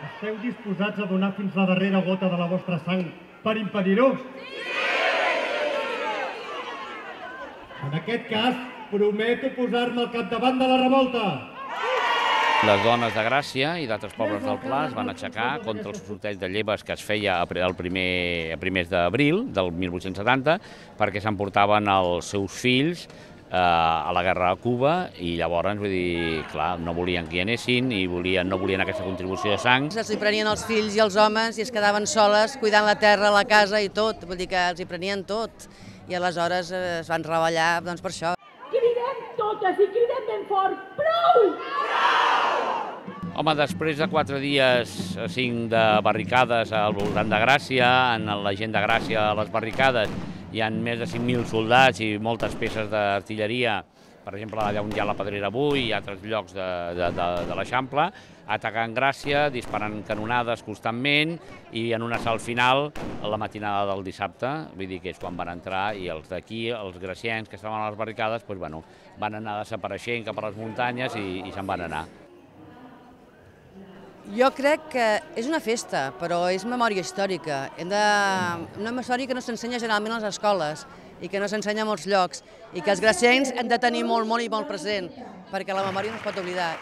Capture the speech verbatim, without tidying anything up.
Esteu disposats a donar fins la darrera gota de la vostra sang per impedir-ho? En aquest cas, prometo posar-me al capdavant de la revolta. Les dones de Gràcia i d'altres pobles del Pla es van aixecar contra el sorteig de lleves que es feia el primer, a primers d'abril del mil vuit-cents setanta perquè s'emportaven els seus fills eh, a la guerra a Cuba i llavors, vull dir, clar, no volien que hi anessin i volien, no volien aquesta contribució de sang. Els hi prenien els fills i els homes i es quedaven soles cuidant la terra, la casa i tot, vull dir que els hi prenien tot i aleshores es van reballar doncs, per això. Cridem totes i cridem ben fort, prou! Home, després de quatre dies, cinc de barricades al voltant de Gràcia, en la gent de Gràcia a les barricades hi ha més de cinc mil soldats i moltes peces d'artilleria, per exemple, allà on hi ha la Pedrera avui i altres llocs de, de, de, de l'Eixample, atacant Gràcia, disparant canonades constantment i en un assalt final a la matinada del dissabte, vull dir que és quan van entrar i els d'aquí, els graciens que estaven a les barricades, doncs, bueno, van anar desapareixent cap a les muntanyes i, i se'n van anar. Jo crec que és una festa, però és memòria històrica. Hem de... Una memòria que no s'ensenya generalment a les escoles i que no s'ensenya a molts llocs i que els graciencs hem de tenir molt, molt i molt present, perquè la memòria no es pot oblidar.